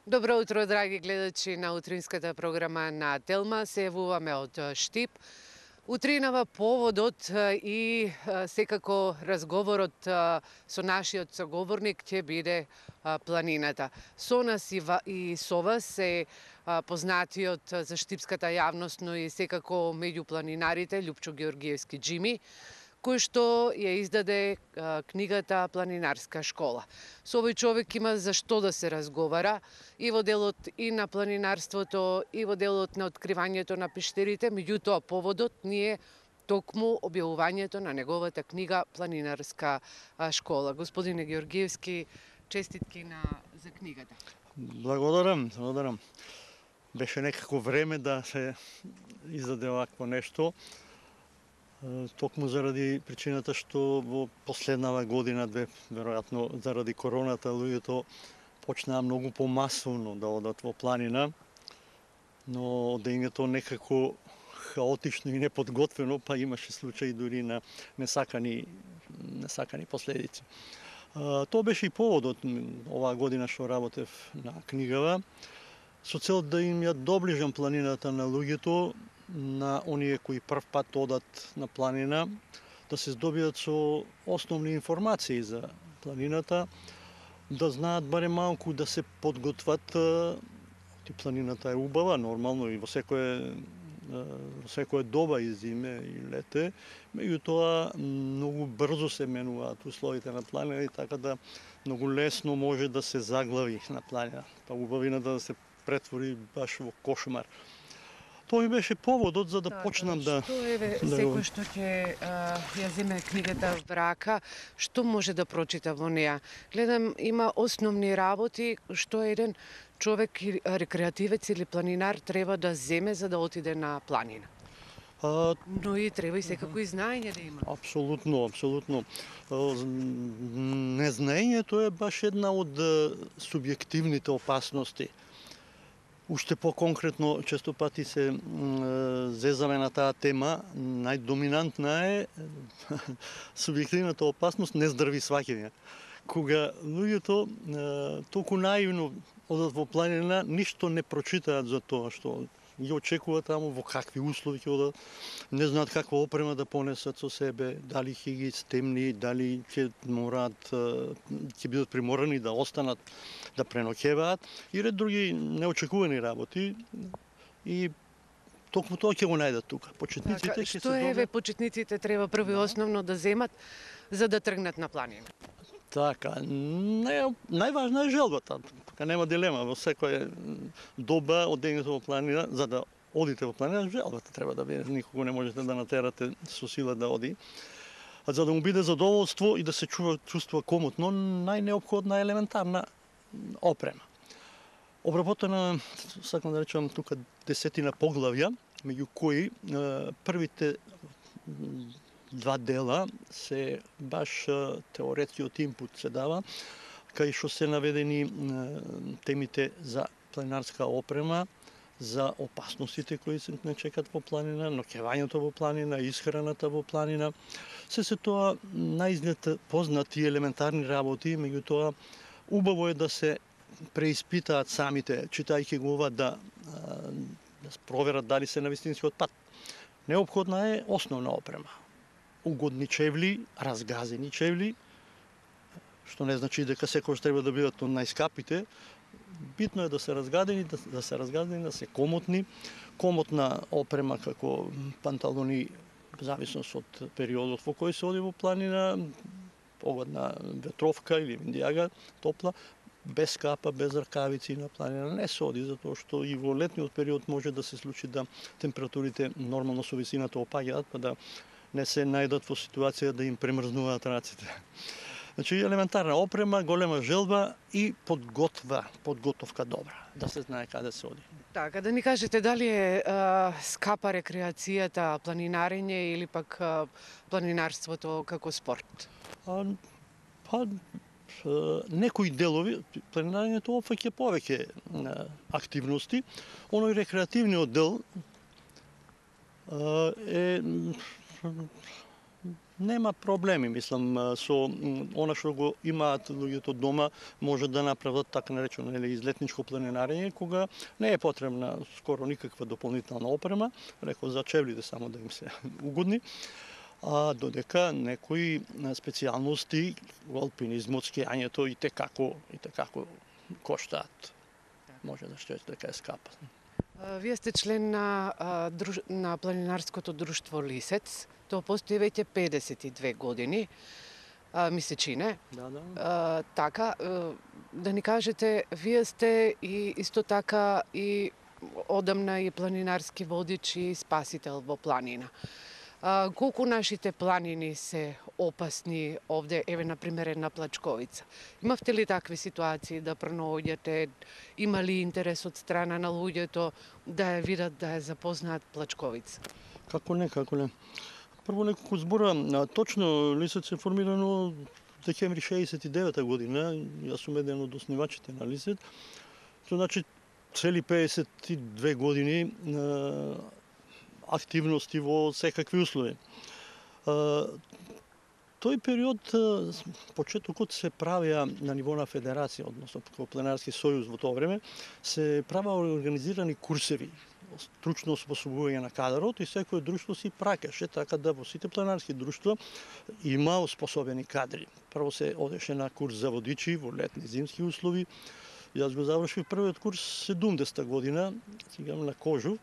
Добро утро, драги гледачи на утринската програма на Телма. Се јавуваме од Штип. Утринава поводот и секако разговорот со нашиот соговорник ќе биде планината. Со нас и со вас е познатиот за штипската јавност, но и секако меѓу планинарите Љупчо Георгиевски Џими, кој што ја издаде книгата Планинарска школа. Со овој човек има за што да се разговара и во делот и на планинарството, и во делот на откривањето на пештерите, меѓутоа поводот ни е токму објавувањето на неговата книга Планинарска школа. Господине Георгиевски, честитки за книгата. Благодарам. Беше некако време да се издаде овакво нешто. Токму заради причината што во последнава година, веројатно заради короната, луѓето почнаа многу помасовно да одат во планина, но одењето некако хаотично и неподготвено, па имаше случаи дури на несакани последици. Тоа беше и поводот оваа година што работев на книгава, со цел да им ја доближам планината на луѓето, на оние кои прв пат одат на планина, да се здобијат со основни информации за планината, да знаат барем малку да се подготват. Планината е убава, нормално и во секое доба и зиме и лете, меѓутоа многу брзо се менуваат условите на планина и така да многу лесно може да се заглави на планина, па убавината да се претвори баш во кошмар. Тоа ми беше поводот за да почнам да... Што секој што ќе ја земе книгата в рака, што може да прочита во неа? Гледам, има основни работи што еден човек, рекреативец или планинар треба да земе за да отиде на планина. Но и треба и секако и знаење да има. Апсолутно. Незнаењето е баш една од субјективните опасности. Уште по-конкретно, често пати се зезаме на таа тема, најдоминантна е субјективната опасност нездрави сваќања. Кога луѓето толку наивно одат во планина, ништо не прочитаат за тоа што ги очекуваат таму, во какви услови ќе одат, не знаат каква опрема да понесат со себе, дали ќе ги стемни, дали ќе бидат приморани да останат, да преноќеваат и ред други неочекувани работи. И токму тоа ќе го најдат тука. Почетниците ќе се добијат. Што почетниците треба прво и основно да земат за да тргнат на планина? Така, најважна е желбата. Така нема дилема во секоја доба одењето во планина, за да одите во планина, желбата треба да биде. Никого не можете да натерате со сила да оди. А за да му биде задоволство и да се чувствува комотно, најнеопходна елементарна опрема. Обработена, сакам да речам тука 10 поглавја, меѓу кои првите 2 дела се баш теоретскиот инпут се дава, кај што се наведени темите за планинарска опрема, за опасностите кои се не чекат во планина, ноќевањето во планина, исхраната во планина. Се тоа наизглед познати елементарни работи, меѓутоа убаво е да се преиспитаат самите, читајќи го ова, да проверат дали се на вистинскиот пат. Неопходна е основна опрема. Угодни чевли, разгазени чевли, што не значи дека секојаш треба да бидат од најскапите. Битно е да се разгадени, да се комотни. Комотна опрема како панталони, зависност од периодот во кој се оди во планина, погодна ветровка или виндијага, топла, без капа, без ракавици на планина не се оди, затоа што и во летниот период може да се случи да температурите нормално со висината опаѓаат, па да не се најдат во ситуација да им премрзнуваат раците. Значи, елементарна опрема, голема желба и подготовка добра, да се знае каде се оди. Така, да ни кажете дали е скапа рекреацијата, планинарење или пак планинарството како спорт? Некои делови, планинарењето опфаќа повеќе активности, оној рекреативниот дел е Нема проблеми, мислам, со она што го имаат луѓето дома, може да направат така наречено излетничко планинарење, кога не е потребна скоро никаква дополнителна опрема, реков за чевлите само да им се угодни, а додека некои специјалности во алпинизмот, скијањето и те како коштаат. Може да што дека е скапа. Вие сте член на планинарското друштво Лисец. Тоа постои веќе 52 години, ми се чине. Да. Така, да ни кажете, вие сте и исто така и одамна и планинарски водич и спасител во планина. Колку нашите планини се опасни овде, еве на пример една Плачковица? Имавте ли такви ситуации да пронаоѓате? Има ли интерес од страна на луѓето да ја видат, да ја запознаат Плачковица? Како не. Прво неколку збора, точно Лисец е формирано декември 69 година, јас сум еден од основачите на Лисец. Тоа значи цели 52 години активности во секакви услови. Тој период, почетокот се правеа на ниво на федерација, односно како Планинарски сојуз во тоа време, се правеа организирани курсеви, стручно освојување на кадрот и секој друштво си праќаше, така да во сите планинарски друштва има освојени кадри. Прво се одеше на курс за водичи во летни зимски услови. Јас го завршив првиот курс 70-та година, сега на Кожув,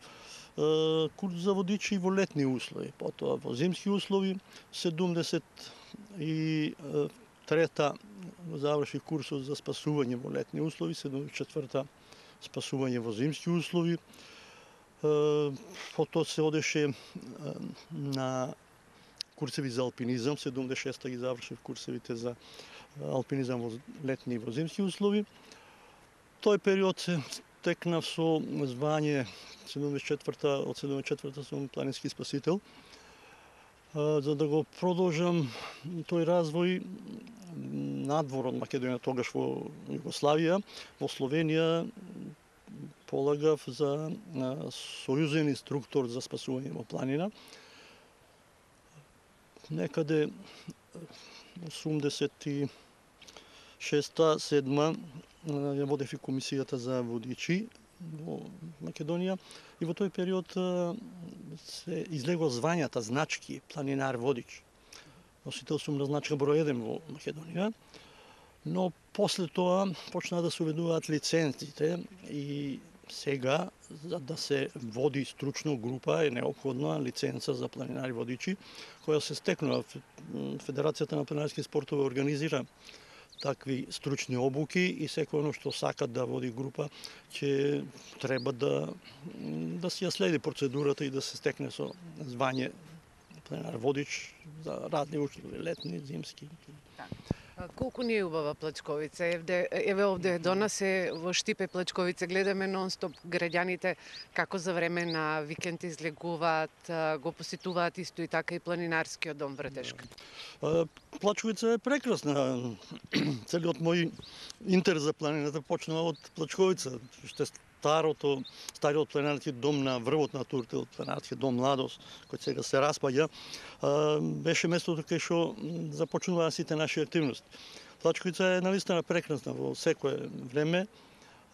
курс за водичи во летни услови, потоа во зимски услови 73-та заврши курсот за спасување во летни услови, 74-та спасување во зимски услови. Потоа се одеше на курсеви за алпинизам, 76-та ги завршив курсевите за алпинизам во летни и во зимски услови. Тој период се стекнав со звање 74-та, од 74-та сум планински спасител. За да го продолжам тој развој надвор од Македонија, тогаш во Југославија, во Словенија полагав за сојузен инструктор за спасување во планина. Некаде 86-та-7 ја водев и комисијата за водичи во Македонија и во тој период се излегува звањата значки планинар водич. Носител сум на значка број 1 во Македонија, но после тоа почнаа да се уведуваат лиценците и сега за да се води стручно група е неопходна лиценца за планинари водичи, која се стекнува. Федерацијата на планинарски спортови организира такви стручни обуки и секој оно што сака да води група ќе треба да си ја следи процедурата и да се стекне со звање планинар водич за разни услови, летни, зимски. Колку ни е убава Плачковица? Еве овде до нас е во Штипе Плачковица, гледаме нон-стоп граѓаните како за време на викенд излегуваат, го посетуваат исто и така и планинарскиот дом Вратешка. Плачковица е прекрасна. Целиот мој интерес за планината почнува од Плачковица, што е стариот планинарски дом на врвот на Туртил, планинарски дом Младост, кој сега се распаѓа, беше местото кај што започнуваа сите наши активности. Плачковица е навистина прекрасна во секое време,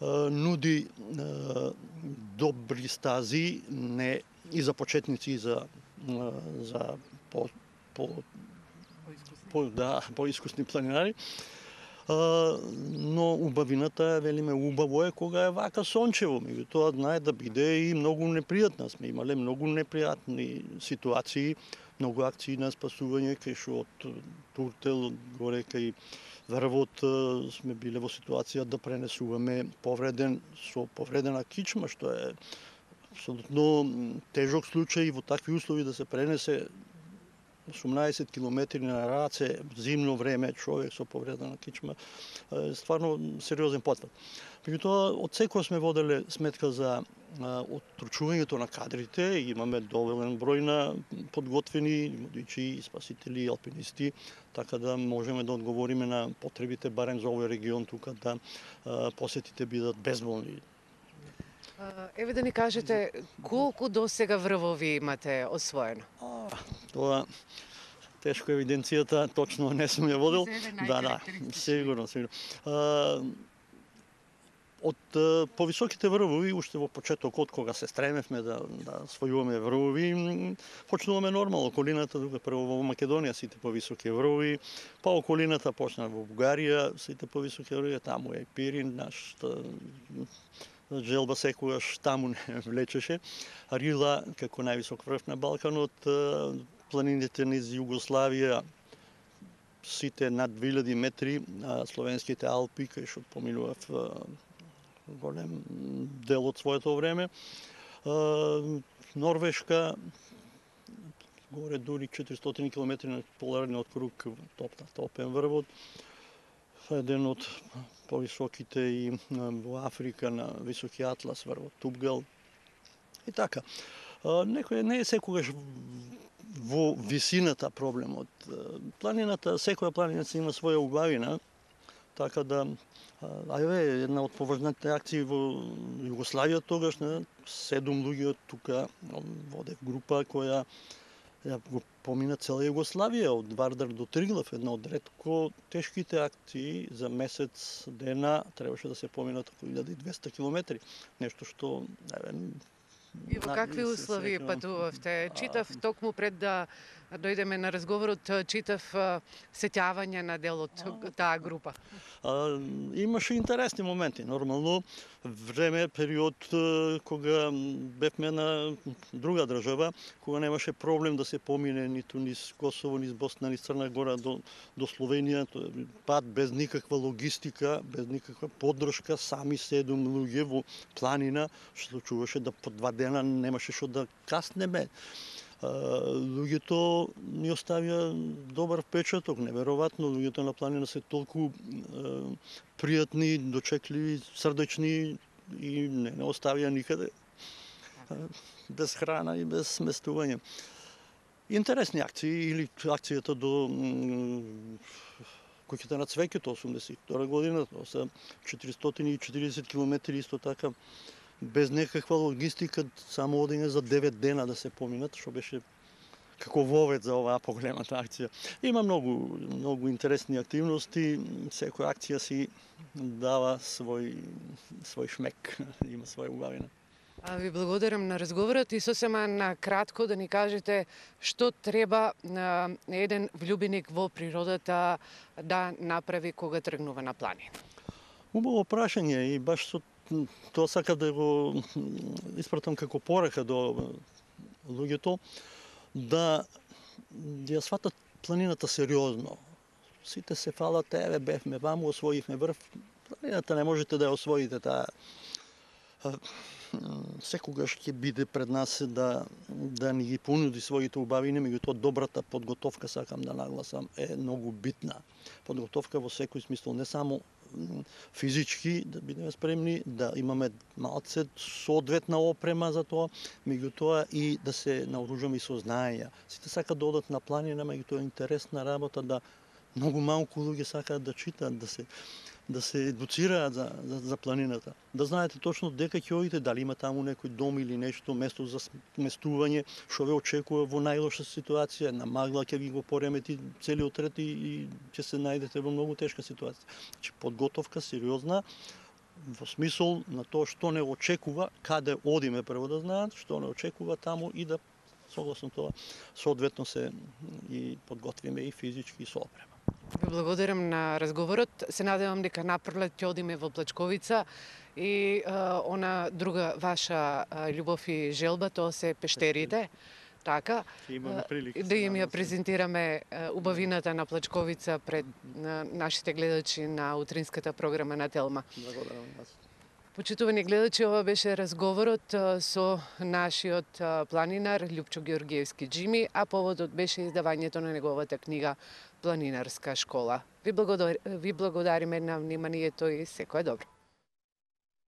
нуди добри стази, не и за почетници и за поискусни планинари. Но убавината, велиме, убаво е кога е вака сончево, меѓутоа знае да биде и многу непријатна. Сме имале многу непријатни ситуации, многу акции на спасување, кај што од Туртел горе кај Врвот сме биле во ситуација да пренесуваме со повредена кичма, што е апсолутно тежок случај во такви услови да се пренесе 18 километри на раце, зимно време, човек со повредена кичма, стварно сериозен потврд. Меѓутоа, од секој сме воделе сметка за оттручувањето на кадрите, имаме доволен број на подготвени водичи, спасители, алпинисти, така да можеме да одговориме на потребите барем за овој регион тука да посетите бидат безболни. Еве да ни кажете колку досега врвови имате освоено? Тоа тешко евиденцијата, точно не сум ја водил. Да, сигурно. Од повисоките врвови, уште во почетокот, кога се стремевме да освојуваме врвови, почнуваме нормално околината, тука прво во Македонија сите повисоки врвови, па околината почна во Бугарија, сите повисоки врвови, таму е Пирин, нашата желба секогаш таму не влечеше. Рила, како највисок врв на Балканот, планините низ Југославија, сите над 2000 метри, словенските Алпи, кај што поминував голем дел од своето време. Норвешка, горе дури 400 км на поларниот круг, топен врвот. Еден од повисоките и во Африка на високи атлас врвот Тупгал. И така. Некој не е секогаш во висината проблемот. Планината, секоја планина си има своја убавина, така да една од поважните акции во Југославија тогаш, 7 луѓе тука водев група која ја го помина цела Југославија, од Вардар до Триглав, една од ретко тешките акции за месец дена требаше да се поминат околу 1200 километри, нешто што И во какви услови патувавте? Читав токму пред да дојдеме на разговорот, читав сеќавање на дел од таа група. Имаше интересни моменти. Нормално, време, период кога бевме на друга држава, кога немаше проблем да се помине ниту низ Косово, низ Босна, низ Црна Гора до Словенија, пат без никаква логистика, без никаква поддршка, сами 7 луѓе во планина, што случуваше да по 2 дена немаше што да каснеме. Луѓето ни оставија добар впечаток, неверојатно, луѓето на планина се толку пријатни, дочекливи, срдечни и не оставија никаде без храна и без сместување. Интересни акции, или акцијата до Куќата на цвеќето 82 година, тоа се 440 километри исто така, без некаква логистика, само одење за 9 дена да се поминат, што беше како вовет за оваа поголемата акција. Има многу интересни активности, секоја акција си дава свој шмек, има своја убавина. Ви благодарам на разговорот и сосема на кратко да ни кажете што треба еден влюбеник во природата да направи кога тргнува на планина. Убаво прашање и баш со тоа сакав да го испратам како порака до луѓето да ја сватат планината сериозно. Сите се фалат, бевме ваму, освоивме врв. Планината не можете да ја освоите таа. Секогаш ќе биде пред нас да ни ги понуди своите убавини, меѓутоа добрата подготовка, сакам да нагласам, е многу битна. Подготовка во секој смисол, не само физички да бидеме спремни, да имаме малце соодветна опрема за тоа, меѓутоа и да се наоружаме и со знаења. Сите сакаат да одат на планина, меѓутоа е интересна работа да многу малку луѓе сакаат да читаат, да се едуцираат за планината. Да знаете точно дека ќе одите, дали има таму некој дом или нешто, место за сместување, што ве очекува во најлоша ситуација, на магла ќе ви го поремети целиот ред и ќе се најдете во многу тешка ситуација. Значи подготовка сериозна во смисол на тоа што не очекува, каде одиме прво да знаат, што не очекува таму и да согласно тоа соодветно се и подготвиме и физички и со опрема. Ви благодарам на разговорот. Се надевам дека напролет ќе одиме во Плачковица и она друга ваша љубов и желба, тоа се пештерите. Така, да им ја презентираме убавината на Плачковица пред нашите гледачи на утринската програма на Телма. Благодарам вас. Почитувани гледачи, ова беше разговорот со нашиот планинар Љупчо Георгиевски Џими, а поводот беше издавањето на неговата книга Планинарска школа. Ви благодариме на вниманието и секое добро.